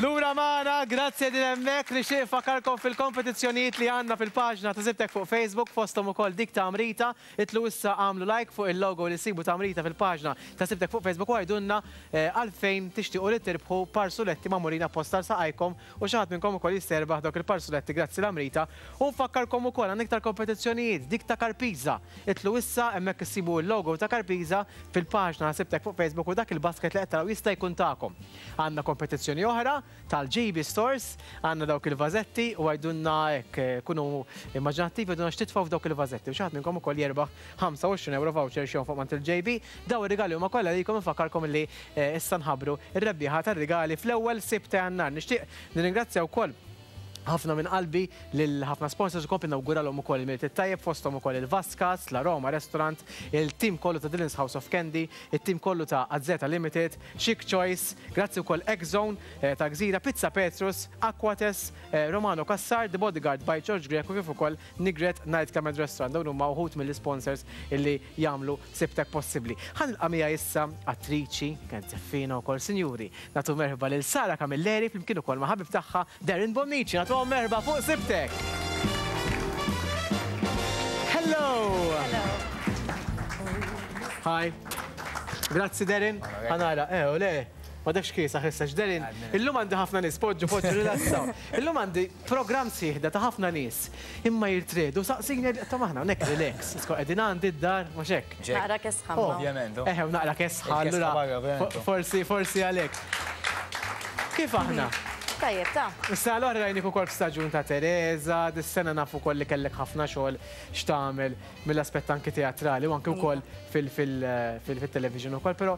Lura magħna, grazzi qegħdin hemmhekk. Nixtieq infakkarkom fil-kompetizzjonijiet li għandna fil-paġna ta' Sibtek fuq Facebook, fosthom ukoll dik ta' Amrita. Itlgħu issa agħmlu like fuq il-logo li ssibu ta' Amrita fil-paġna ta' Sibtek fuq Facebook u għidulna għalfejn tixtiequ li tirbħu parsuletti magħmulin apposta għal saqajkom u xi ħadd minnkom ukoll jista' jirbaħ dawk il-parsuletti grazzi 'l Amrita. U nfakkarkom ukoll għandna iktar kompetizzjonijiet, dik ta' Karpiża. Itlgħu issa hemmhekk issibu l-logo ta' Karpiża fil-paġna ta' Sibtek fuq Facebook u dak il-basket li qed taraw jista' jkun tagħkom. Għandna kompetizzjoni oħra tal-JB Stores, għandna dawk il-vażetti u għidulna hekk, kunu immaġinattivi għidulna x'titfgħu f'dawk il-vażetti u xi ħadd minnkom ukoll jerbaħ 25 ewro voucher x'jonfoq m'għand il-JB. Dawn ir-rigali huma kollha għalikom infakkarkom li issa nħabbru r-rebbieħa tar-rigali fl-ewwel Sibt ta' Jannar. Nixtieq nirringrazzja wkoll ħafna minn qalbi lil ħafna sponsors u nkompli nawguralhom ukoll il-Milied it-tajjeb fosthom ukoll il-Vascas, La Roma Restaurant, il-tim kollu ta' Dylan's House of Candy, it-tim kollu ta' Azeta Limited, Chic Choice, grazzi wkoll X-Zone ta' Gżira, Pizza Petrus, Aquates, Romano Cassar, The Bodyguard by George Grech u kif ukoll Nigret Night Club and Restaurant. Dawn huma wħud mill-isponsors illi jagħmlu Sibtek possibbli. Ħa nilqa' miegħi issa attriċi, kienet żeffiena wkoll, sinjuri, nagħtu merħba lil Sara Camilleri flimkien ukoll ma' ħabib tagħha Darren Bonnici. Nagħtuhom merħba fuq Sibtek! Hello! Hello! Hi. Grazzi Darren. Ħa nara, eh, u le, m'għadekx kiesaħ issa x'Darren. Illum għandi ħafna nies, poġġu, poġġu, rilassaw. Illum għandi programm sħiħ da ta' ħafna nies. Imma jirtredu, saqsini, ta' maħna hawnhekk relax. Isko qegħdin għandi d-dar, mhux hekk. Naqra kesħa. Ovvjament. Eħe, u naqra kesħa, allura. Forsi, forsi għalhekk. Kif aħna? Tajjeb, ta. Is-sena l-oħra rajnik ukoll f'staġun ta' Teresa, dis-sena naf ukoll li kellek ħafna xogħol x'tagħmel. mill-aspett anki teatrali u anki wkoll fil-television ukoll, però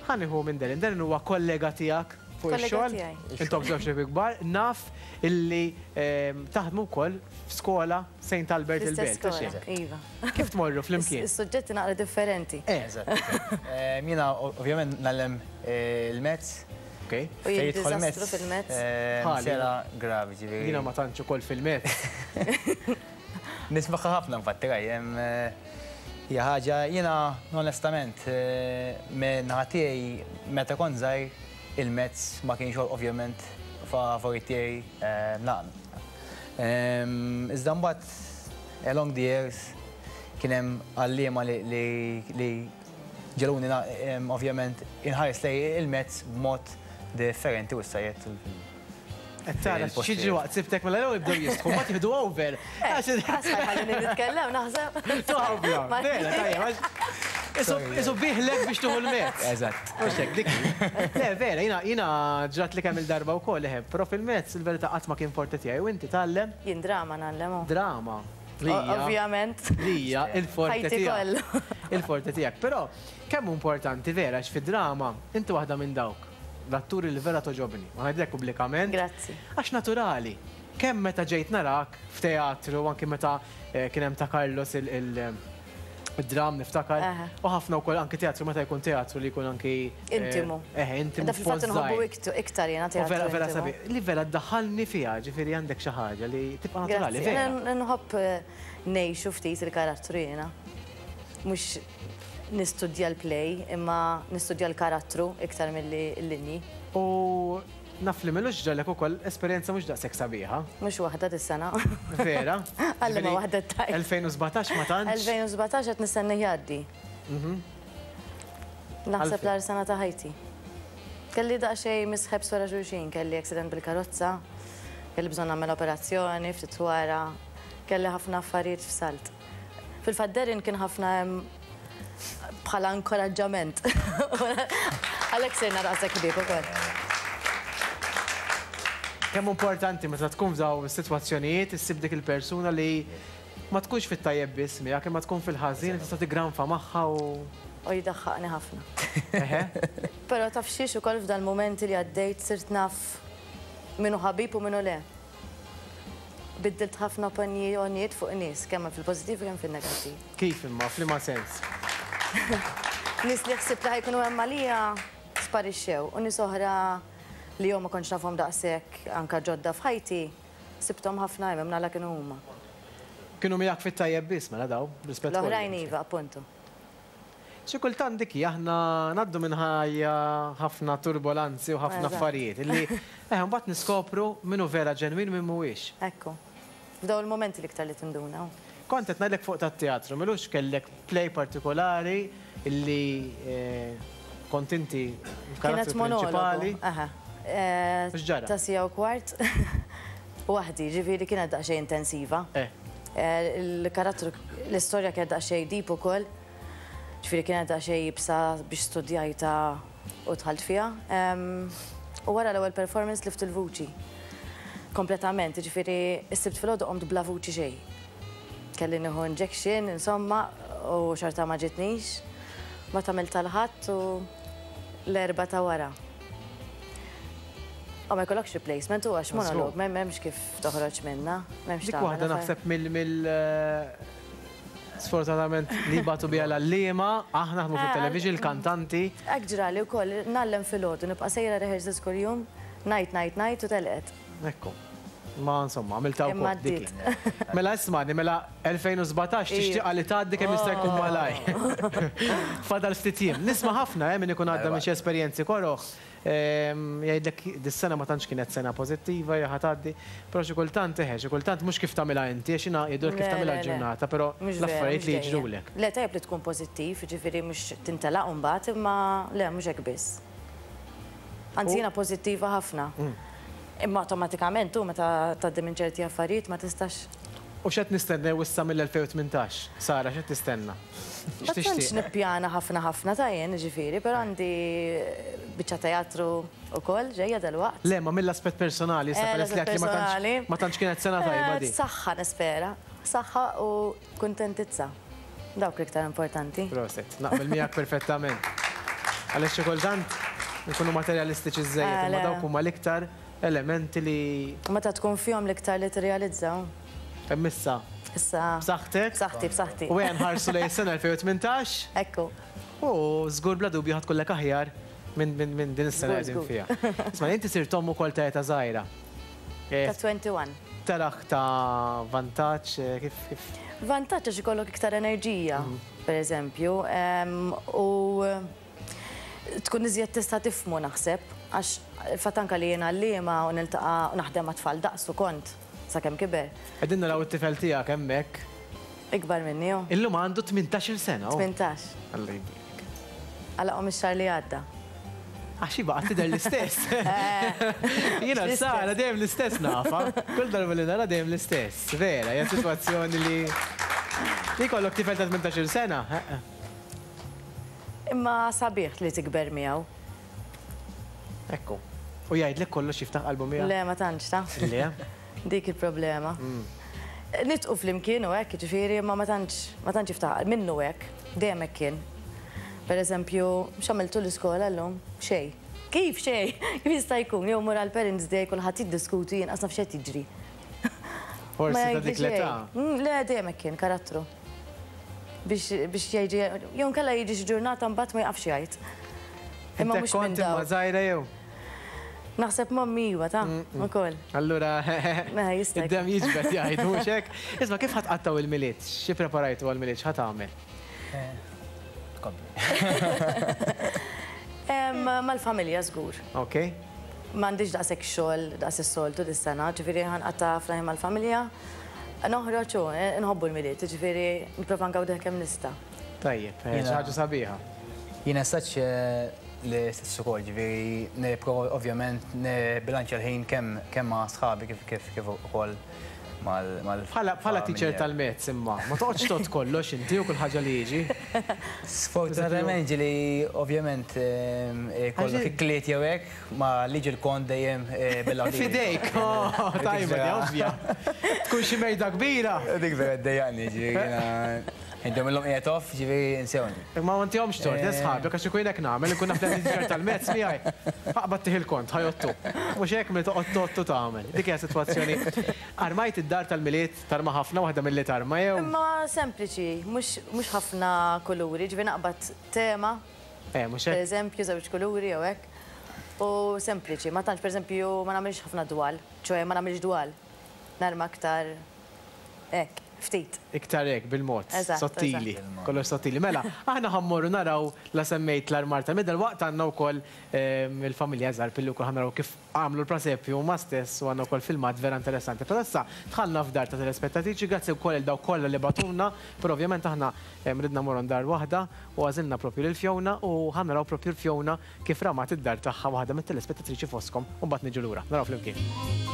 ħa nieħu minn Darren. Darren huwa kollega tiegħek fuq ix-xogħol. Intom żewġ ħbieb kbar, naf illi taħdmu wkoll f'skola Saint Albert il-Belt. Iva. Kif tmorru flimkien? Is-suġġetti naqra differenti. Eżatt. Jiena ovvjament ngħallem il-mezz. Okay. U jien diżastru fil-mezz. Sera gravi ġifieri. Jiena ma tantx ukoll fil-mezz. Nismagħha ħafna infatti Ray, hija ħaġa jiena onestament minn naħa tiegħi meta kont żgħir il-mezz ma kienx ovvjament favorit tiegħi naqra. Iżda mbagħad along the years kien hemm għalliema li ġegħluni ovvjament inħares lejn il-mezz b'mod differenti u issa qiegħed Qed tara x'jiġri waqt sibtek mela l-ewwel jibdew jistħu, mbagħad jieħdu over. Ħallini nitkellem naħseb. Toħobja. Vera, tajjeb. Isu biħlek biex tuħu l-mezz. Eżatt. Mhux hekk dik. Le, vera, jiena jiena ġrat li kemm il-darba wkoll eħe, però fil-mezz il-verità qatt ma kien forte tiegħi u inti tgħallem? Jien drama ngħallem. Drama. Ovvjament. Lija, il-forte tiegħek. Il-forte tiegħek. Però kemm hu importanti vera għax fid-drama inti waħda minn dawk. L-atturi li vera togħġobni. U ngħidlek pubblikament. Grazzi. Għax naturali. Kemm meta ġejt narak f'teatru, anki meta kien hemm ta' Carlos il-dram niftakar. U ħafna wkoll anki teatru meta jkun teatru li jkun anki. Intimu. Eħe, intimu. Da fil-fatt inħobbu iktar jiena teatru. Vera, vera sabiħ. Li vera ddaħħalni fiha, ġifieri għandek xi ħaġa li tibqa' naturali. Grazzi. Nħobb ngħixu ftit il-karattru jiena. Mhux nistudja l-play imma nistudja l-karattru iktar milli l-linji. U naf li m'ilux ġralek ukoll esperjenza mhux daqshekk sabiħa. Mhux waħda dis-sena. Vera? Alla ma waħda tajba. 2017 ma tantx. 2017 qed nistennih jgħaddi. Naħseb l-agħar sena ta' ħajti. Kelli daqsxejn misħebs wara xulxin, kelli accident bil-karozza, kelli bżonn nagħmel operazzjoni ftit wara, kelli ħafna affarijiet f'salt. Fil-fatt Darren kien ħafna hemm bħala inkoraġġament. Għalhekk sirna daqshekk ħbieb ukoll. Kemm hu importanti meta tkun f'dawn is-sitwazzjonijiet issib dik il-persuna li ma tkunx fit-tajjeb biss miegħek imma tkun fil-ħażin li tista' tiggranfa magħha u. U jdaħħaqni ħafna. Eħe. Però taf xiex ukoll f'dal-mumenti li għaddejt sirt naf min hu ħabib u min hu le. Biddilt ħafna opinjonijiet fuq nies, kemm fil-pożittiv u kemm fin-negattiv. Kif imma, f'liema sens? Nies li ħsibt li ħa jkunu hemm għalija sparixxew u nies oħra li jew ma kontx nafhom daqshekk anke ġodda f'ħajti, sibthom ħafna hemm, imnalla kienu huma. Kienu miegħek fit-tajjeb biss mela dawn, b'rispett kollu. L-oħrajn iva, appuntu. Xi kultant dik hi, aħna ngħaddu minn ħajja ħafna turbolanzi u ħafna affarijiet illi eh mbagħad niskopru min hu vera ġenwin u min mhuwiex. Ekku. F'dawn il-mumenti l-iktar li tinduna. Kont qed ngħidlek fuq tat-teatru, m'ilux kellek play partikolari illi kont inti l-karattru prinċipali. Kienet monologu, aha. X'ġara? Ta' siegħa u kwart. Waħdi, ġifieri kienet daqsxejn intensiva. Il-karattru, l-istorja kienet daqsxejn deep ukoll. Ġifieri kienet daqsxejn iebsa biex studjajtha u dħalt fiha. U wara l-ewwel performance tlift il-vuċi. Kompletament, jiġifieri s-Sibt filgħodu qomt bla vuċi xejn. Kelli nieħu injection, insomma, u xorta ma ġietnix. Mbagħad għamiltha l-Ħadd u l-Erbgħa ta' wara. U ma jkollokx replacement u għax monolog, m'hemmx kif toħroġ minnha, m'hemmx Dik waħda naħseb mill sfortunatament li jbatu biha l-għalliema, aħna naħdmu fit-television, il-kantanti. Hekk ġrali wkoll, ngħallem filgħodu, nibqa' sejra rehearsals kuljum, ngħid ngħid ngħid u telqet. Ekku. Ma insomma, għamiltha wkoll dik. Mela ismagħni, mela 2017 tixtieqha li tgħaddi kemm jista' jkun malajr. Fadal ftit jiem. Nisma' ħafna eh min ikun għadda minn xi esperjenzi koroh. Jgħidlek dis-sena ma tantx kienet sena pożittiva, hija ħa tgħaddi. Però xi kultant eħe, xi kultant mhux kif tagħmilha inti, għax jiena jgħidulek kif tagħmilha l-ġurnata, però l-affarijiet li jiġrulek. Le, tajjeb li tkun pożittiv, jiġifieri mhux tintelaq imbagħad, imma le mhux hekk biss. Anzi jiena pożittiva ħafna. Imma awtomatikament hu meta tgħaddi minn ċerti affarijiet ma tistax. U x'qed nistennew issa mill-2018? Sara, x'qed tistenna? Ma tantx nippjana ħafna ħafna ta' jien, jiġifieri, però għandi biċċa teatru wkoll ġejja dalwaqt. Le, ma mill-aspett personali issa peress li għedt li ma tantx ma tantx kienet sena tajba din. Saħħa nispera. Saħħa u kuntentizza. Dawk l-iktar importanti. Proset, naqbel miegħek perfettament. Għaliex xi kultant inkunu materjalistiċi żżejjed, imma dawk huma l-iktar elementi li. Meta tkun fihom l-iktar li tirrealizza. Hemm issa. Issa. B'saħħtek. B'saħħti, b'saħħti. U ejja nħarsu lejn is-sena 2018. Ekku. U żgur bla dubju ħa tkunlek aħjar minn din is-sena li qegħdin fiha. Isma' inti sirt omm ukoll ta' età żgħira. Ta' 21. Tarah ta' vantaġġ kif kif? Vantaġġ għax ikollok iktar enerġija, pereżempju, u tkun iżjed tista' tifhmu naħseb, għax il-fatt anke li jien għalliema u niltaqa' u naħdem ma' tfal daqsu kont sakemm kiber. Qegħdin naraw it-tifel tiegħek hemmhekk. Ikbar minni hu. Illum għandu 18-il sena hu. 18. Alla jbierek. Għalaqhom ix-xahar li għadda. Għax hi baqgħet tidher l-istess. Jiena Sara dejjem l-istess nafha. Kull darba li nara dejjem l-istess. Vera, hija sitwazzjoni li li jkollok tifel ta' 18-il sena. Imma sabiħ li tikber miegħu. Ekku. U jgħidlek kollox jiftaħ qalbu miegħek? Le, ma tantx ta. Le? Dik il-problema. Nidqu flimkien u hekk, jiġifieri, imma ma tantx, ma tantx jiftaħ, minnu hekk, dejjem hekk kien. Per eżempju, x'għamiltu l-iskola llum? Xejn. Kif xejn? Kif jista' jkun? Jew mur għall-Parents Day kulħadd jiddiskuti jien qas naf x'qed jiġri. Forsi ta' dik l-età. Le, dejjem hekk kien, karattru. Biex biex jgħid, jew inkella jiġi xi ġurnata mbagħad ma jaqafx jgħid. Imma mhux minn dawn. Kont imma żgħira jew? Naħseb mommy iwa ta' ukoll. Allura id-demm jiġbed jgħidu mhux hekk. Isma' kif ħa tqattgħu il-Milied? Xi preparajtu għall-Milied? X'ħa tagħmel? Mal-familja żgur. Ok. M'għandix daqshekk xogħol daqs is-soltu dis-sena, ġifieri ħa nqatta' ħafna ħin mal-familja. Noħroġ u nħobbu l-Milied, jiġifieri nipprova ngawdih kemm nista'. Tajjeb, xi ħaġa sabiħa. Jiena saċ l-istess ukoll, ġifieri nipprova ovvjament nibbilanċja l-ħin kemm kemm ma' sħabi kif kif kif ukoll mal mal Bħala bħala teacher tal-maths imma, ma toqgħodx tgħodd kollox inti u kull ħaġa li jiġi. Sfortunatament ġieli ovvjament ikollok ikliet jew hekk, ma liġi l-kont dejjem bil-għadira. F'idejk, oh, tajba di ovvja. Tkun xi mejda kbira. Dik vera ddejjaqni, ġifieri jiena Intom illum qiegħed off, ġifieri insewni. Imma ma ntihomx tort, eh, sħabek, għax ikun hekk nagħmel, inkun naf li għandi teacher tal-maths miegħi. Aqbad tih il-kont, ħa jgħottu. Mhux hekk milli toqgħod tgħott u tagħmel. Dik hija sitwazzjoni. Armajt id-dar tal-Milied, tarma ħafna waħda milli tarma jew? Imma sempliċi, mhux mhux ħafna kuluri, ġifieri naqbad tema. Eh, mhux hekk? Pereżempju, żewġ kuluri jew hekk. U sempliċi, ma tantx pereżempju ma nagħmilx ħafna dwal, ċoe ma nagħmilx dwal. Narma aktar hekk. Ftit. Iktar hekk, bil-mod. Eżatt. Sottili. Kollox sottili. Mela, aħna ħa mmorru naraw la semmejt l-armar tal-Milied, dalwaqt għandna wkoll il-familja Zarb illi wkoll ħa naraw kif għamlu l-prasepju huma stess u għandna wkoll filmat vera interessanti. Però issa dħalna f'dar ta' telespettatriċi, grazzi wkoll lil dawk kollha li bagħtulna, però ovvjament aħna ridna mmorru dar waħda u għażilna propju lil Fiona u ħa naraw propju l-Fiona kif ramat id-dar tagħha waħda mit-telespettatriċi fostkom u mbagħad niġu lura. Naraw flimkien.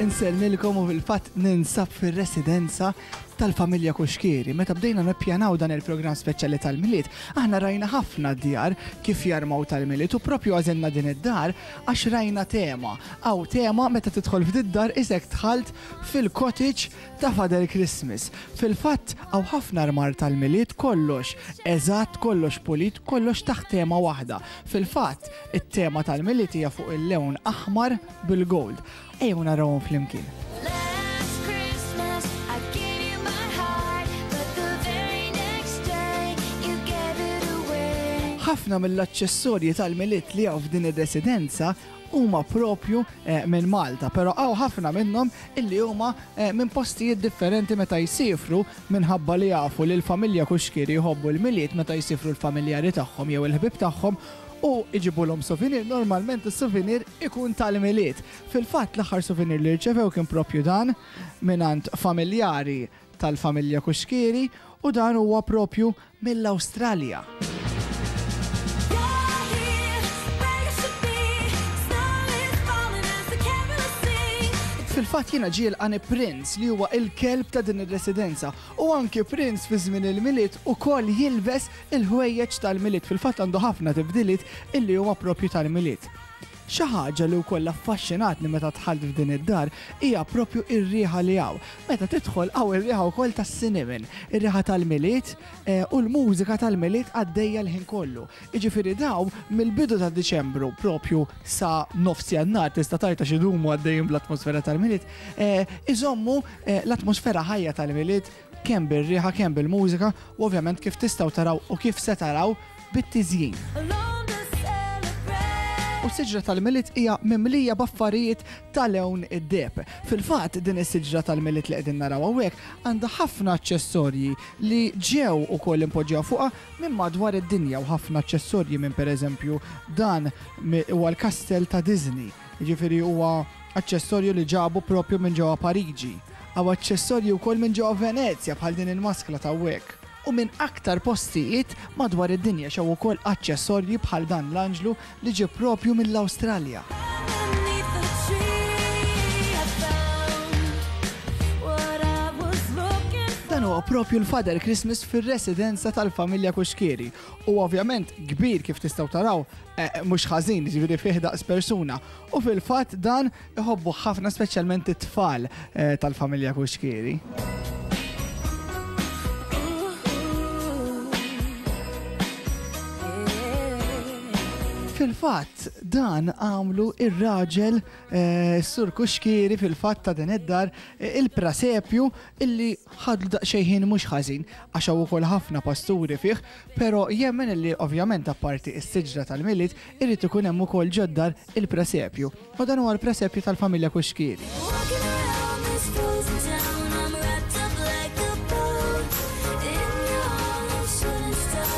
Insellmilkom u fil-fatt ninsab fir-residenza tal-familja Cuschieri. Meta bdejna nippjanaw dan il-programm speċjali tal-Milied, aħna rajna ħafna djar kif jarmaw tal-Milied u propju għażilna din id-dar għax rajna tema. Hawn tema meta tidħol f'did-dar isek dħalt fil-cottage ta' Father Christmas. Fil-fatt hawn ħafna armar tal-Milied kollox eżatt, kollox pulit, kollox taħt tema waħda. Fil-fatt it-tema tal-Milied hija fuq il-lewn aħmar bil-gold. Ejjew narawhom flimkien. Ħafna mill-aċċessorji tal-Milied li hawn f'din ir-residenza huma propju eh, minn Malta, però hawn ħafna minnhom illi huma eh, minn postijiet differenti meta jsifru minħabba li jafu li l-familja Kuxkieri jħobbu l-Milied meta jsifru l-familjari tagħhom jew il-ħbieb tagħhom u iġibulhom souvenir, normalment is-souvenir ikun tal-Milied. Fil-fatt l-aħħar souvenir li rċevew kien propju dan mingħand familjari tal-familja Cuschieri u dan huwa propju mill-Awstralja. Fil-fatt jiena ġie jilqani Prince li huwa il-kelb ta' din ir-residenza u anki Prince fi żmien il-Milied ukoll jilbes il-ħwejjeġ tal-Milied. Fil-fatt għandu ħafna tibdiliet illi huma propju tal-Milied. Xi ħaġa li wkoll affaxxinatni meta dħalt f'din id-dar hija propju r-riħa li hawn. Meta tidħol hawn ir-riħa wkoll tas-cinnamon, ir-riħa tal-Milied u l-mużika tal-Milied għaddejja l-ħin kollu. Jiġifieri dawn mill-bidu ta' Diċembru propju sa nofs Jannar tista' tgħid għax idumu għaddejjin bl-atmosfera tal-Milied, iżommu l-atmosfera ħajja tal-Milied kemm bir-riħa, kemm bil-mużika u ovvjament kif tistgħu taraw u kif se taraw bit-tiżjin. U s-siġra tal-Milied hija mimlija b'affarijiet ta' lewn id-deheb. Fil-fatt, din is-siġra tal-Milied li qegħdin naraw hawnhekk għandha ħafna aċċessorji li ġew ukoll impoġġew fuqha minn madwar id-dinja u ħafna aċċessorji minn pereżempju dan huwa l-kastell ta' Disney. Jiġifieri huwa aċċessorju li ġabu propju minn ġewwa Pariġi. Hawn aċċessorji wkoll minn ġewwa Venezja bħal din il-maskla t'hawnhekk. U minn aktar postijiet madwar id-dinja x'hawn ukoll aċċessorji bħal dan l-anġlu li ġie propju mill-Awstralja. Dan huwa propju l-Father Christmas fir-residenza tal-familja Cuschieri. U ovvjament kbir kif tistgħu taraw Eh, mhux ħażin, ġifieri fih daqs persuna. U fil-fatt dan iħobbu ħafna speċjalment it-tfal eh, tal-familja Kuxkieri. Fil-fatt dan għamlu ir-raġel eh, Sur Kuxkieri fil-fatt ta' din id-dar il-prasepju illi ħadlu daqsxejn ħin mhux ħażin għax hawn ukoll ħafna pasturi fih Pero jemmen illi ovvjament apparti is-siġra tal-Milied irid ikun hemm ukoll ġod-dar il-presepju. U dan huwa l-presepju tal-familja Cuschieri.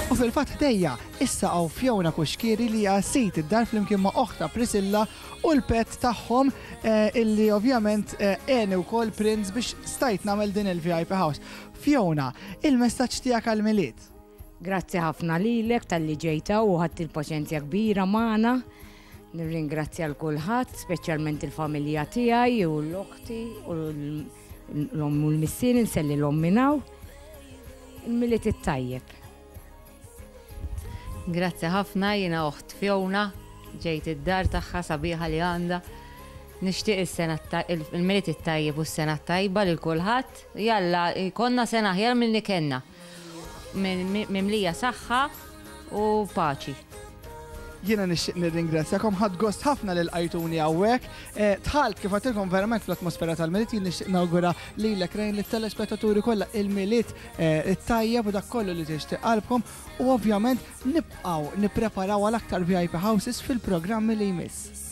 U fil-fatt ħdejja issa hawn Fiona Cuschieri li hija sid id-dar flimkien ma' oħtha Priscilla u l-pet tagħhom illi ovvjament għeni wkoll Prince biex stajt nagħmel din il-VIP house. Fiona, il-messaġġ tiegħek għall-Milied? Grazzi ħafna lilek talli ġejt hawn u ħadt il-paċenzja kbira magħna. Nirringrazzja l kulħadd, speċjalment il-familja tiegħi u l-oħti u l-omm u l-missier insellilhom minn hawn. Il-Milied it-tajjeb. Grazzi ħafna, jiena oħt Fiona, ġejt id-dar tagħha sabiħa li għandha. Nixtieq is-sena il-Milied it-tajjeb u s-sena t-tajba lil kulħadd. Jalla jkollna sena aħjar milli kellna. Mimlija saħħa u paċi. Jiena nixtieq nirringrazzjakom, ħadt gost ħafna li lqajtuni hawnhekk. Eh, dħalt kif għedtilkom verament fl-atmosfera tal-Milied, jien nixtieq nawgura lilek Rejn lit-telespettaturi kollha il-Milied eh, it-tajjeb u dak kollu li tixtieq qalbkom u ovvjament nibqgħu nippreparaw għal aktar VIP Houses fil-programmi li jmiss.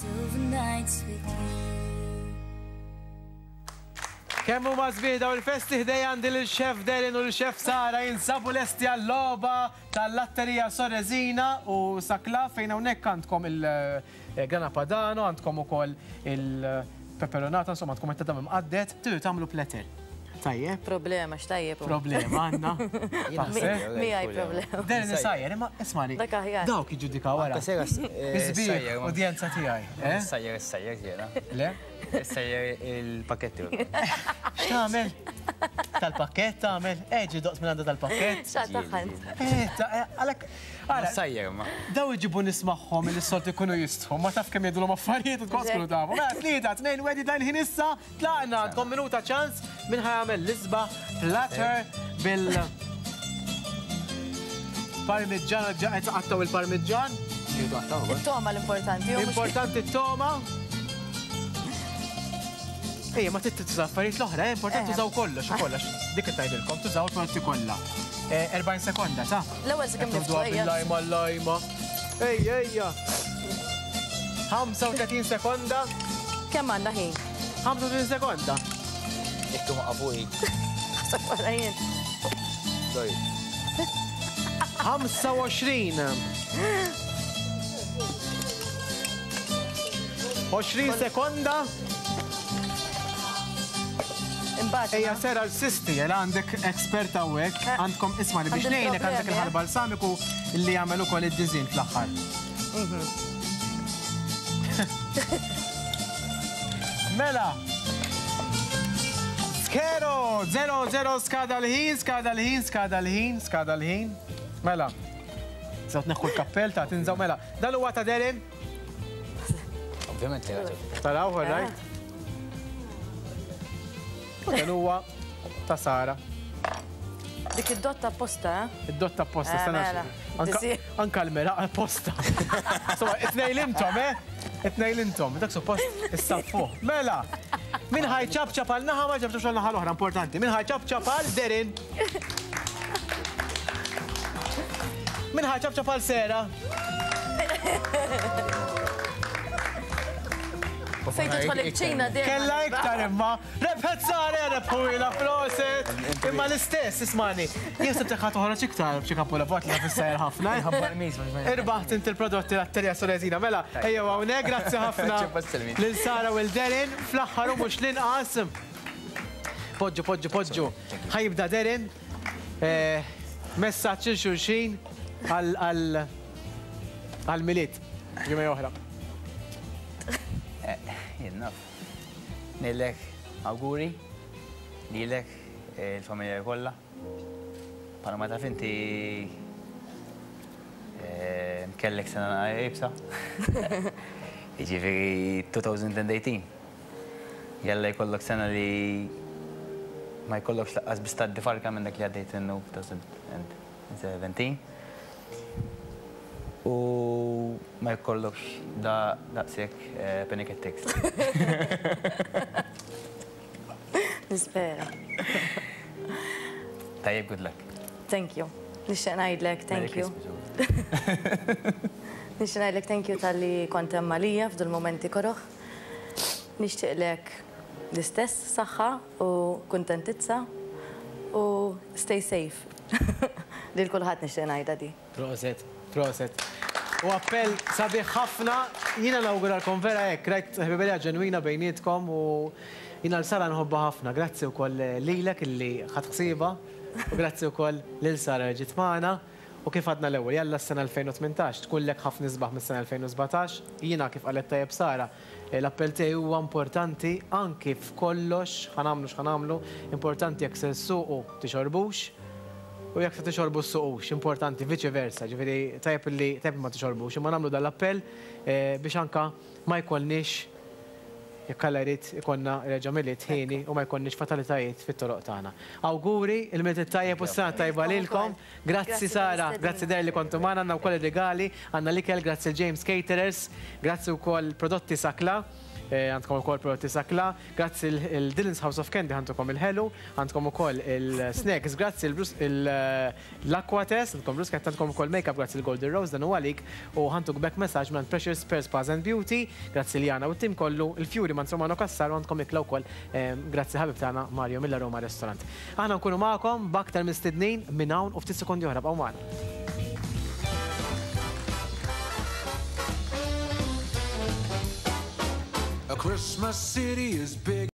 Kemm huma sbieħ dawn il-festi ħdejja għandi lil Chef Darren u lil Chef Sara jinsabu lesti għal-logħba tal-Latteria Sorresina u Saclà fejn hawnhekk għandkom il-Grana Padano, għandkom ukoll il-peperonata, insomma għandkom it-tadam imqadded, tridu tagħmlu platter. Tajjeb. Problema, x'tajjeb. Problema għandna. Miegħi problema. Darren isajjer, imma ismani. Dak aħjar. Dawk jiġġudikaw wara. Isbieħ, udjenza tiegħi. Eh? Sajjer, sajjer jiena. Le? Sejjer il-pakketti. X'tagħmel? Tal-pakkett tagħmel? Eġi doqs minn għandha tal-pakkett. X'taħħan? Eh, eh, għalhekk. Ara, sajjer ma. Daw iġibu nies magħhom li s-soltu jkunu jistħu, ma taf kemm jgħidulhom affarijiet u tkun tkunu tafu. Mela tlieta, tnejn, wieħed jibda l-ħin issa, tlaqna għandkom minuta ċans min ħa jagħmel l-isbaħ platter bil Parmiġġan ġa qed tqattgħu il-parmiġġan. It-toma l-importanti. Importanti t-toma. Ejja, ma trid tuża affarijiet l-oħra, eh, importanti eh. tużaw kollox, u kollox. Dik qed tgħidilkom, tużaw il-prodotti kollha. 40 eh, sekonda, sa? L-ewwel sakemm niftħu. Bil-lajma, l-lajma. Ejja, ejja. 35 sekonda. Kemm għandna ħin? 35 sekonda. Jekk ma qafuj. Ħasab wara jien. Sorry. 25. 20 sekonda. Imbagħad. Ejja sera l-sisti, jela għandek expert hawnhekk, Eh. għandkom isma' li biex Għandi ngħinek għandek problemi, eh. il-ħal balsamiku li jagħmel ukoll id-diżin fl-aħħar. Mhm. Mela. Skero, 0-0 skada l-ħin, skada l-ħin, skada l-ħin, skada l-ħin. Mela. Zaw tneħħu l-kappell ta' tinżaw mela. Dan huwa ta' Darren. Ovvjament li għaġeb. Taraw, all right? U dan huwa ta' Sara. Dik id-dotta apposta, eh? Id-dotta apposta, Eh, stana. mela. Anka, Disi. anka l-meraq apposta. Insomma, it-tnejn intom, eh? It-tnejn intom, dak suppost issaffuh. Mela, min ħaj ċapċap għal naħa ma ċapċapx għal naħa l-oħra, importanti. Min ħaj ċapċap għal Derin. Min ħaj ċapċap għal Sera. Fejn tidħol il-ċina dejjem. Kella iktar imma. Rebħet Sara, rebħuila proset. Imma l-istess, ismani. Jien sibtek ħa toħroġ iktar b'xi kapolavot li fissajr ħafna. Irbaħt inti l-prodotti lat-Terja Sorezina. Mela, ejjew hawnhekk, grazzi ħafna lil Sara u l-Derin. Fl-aħħar u mhux l-inqas. Poġġu, poġġu, poġġu. Ħa jibda Derin. Eh, messaġġ il xulxin għal-Milied. Ġimgħa oħra. Eh, jien naf. Ngħidlek awguri lilek eh, il-familja kollha. Bħalma taf inti eh, kellek sena iebsa. Jiġifieri 2018. Jalla jkollok sena li ma jkollokx laqqas biss tgħaddi farka minn dak li għaddejt minnu f'2017. U ma jkollokx da daqshekk eh, panic attacks. Nispera. Tajjeb, good luck. Thank you. Nixtieq ngħidlek Merry thank you. Christmas. Nixtieq ngħidlek thank you talli kont hemm għalija f'dul momenti koroh. Nixtieqlek l-istess saħħa u kuntentizza u stay safe. Lil kulħadd nixtieq ngħidha di. Proset, proset. U appell sabiħ ħafna, jiena nawguralkom vera hekk, rajt ħbiberija ġenwina bejnietkom u jiena l Sara nħobbha ħafna. Grazzi wkoll lilek illi ħadt ħsiebha u grazzi wkoll lil Sara li ġiet magħna. U kif għadna l-ewwel, jalla s-sena 2018 tkunlek ħafna isbaħ mis-sena 2017. Jiena kif qalet tajjeb Sara, l-appell tiegħi huwa importanti anki f'kollox, ħa nagħmlu x'ħa nagħmlu, importanti jekk se ssuqu tixorbux u jekk se tixorbu ssuqux, importanti viċi versa, ġifieri tajjeb li tajjeb li ma tixorbux, imma nagħmlu dan l-appell biex anka ma jkollniex jekk Alla jrid ikollna reġa' Milied hieni u ma jkollniex fatalitajiet fit-toroq tagħna. Awguri, il-Milied it-tajjeb u s-sena t-tajba lilkom. Grazzi Sara, grazzi Darren li kontu magħna, għandna wkoll ir-rigali, għandna l-ikel, grazzi 'l James Caterers, grazzi wkoll Prodotti Sakla, għandkom ukoll Prodotti Sakla, grazzi 'l Dylan's House of Candy ħantukom il-ħelu, għandkom ukoll il-snacks, grazzi l-Aquatest, għandkom bruschetta, għandkom ukoll make-up grazzi l-Golden Rose, dan hu għalik, u ħantuk back massage mingħand Precious Pearl Spas and Beauty, grazzi Liana u t-tim kollu, il-fjuri mingħand Romano Cassar u għandkom ikla wkoll grazzi ħabib tagħna Mario mill-Aroma Restaurant. Aħna nkunu magħkom b'aktar mistednin minn hawn u ftit sekondi oħra bqgħu magħna. A Christmas city is big.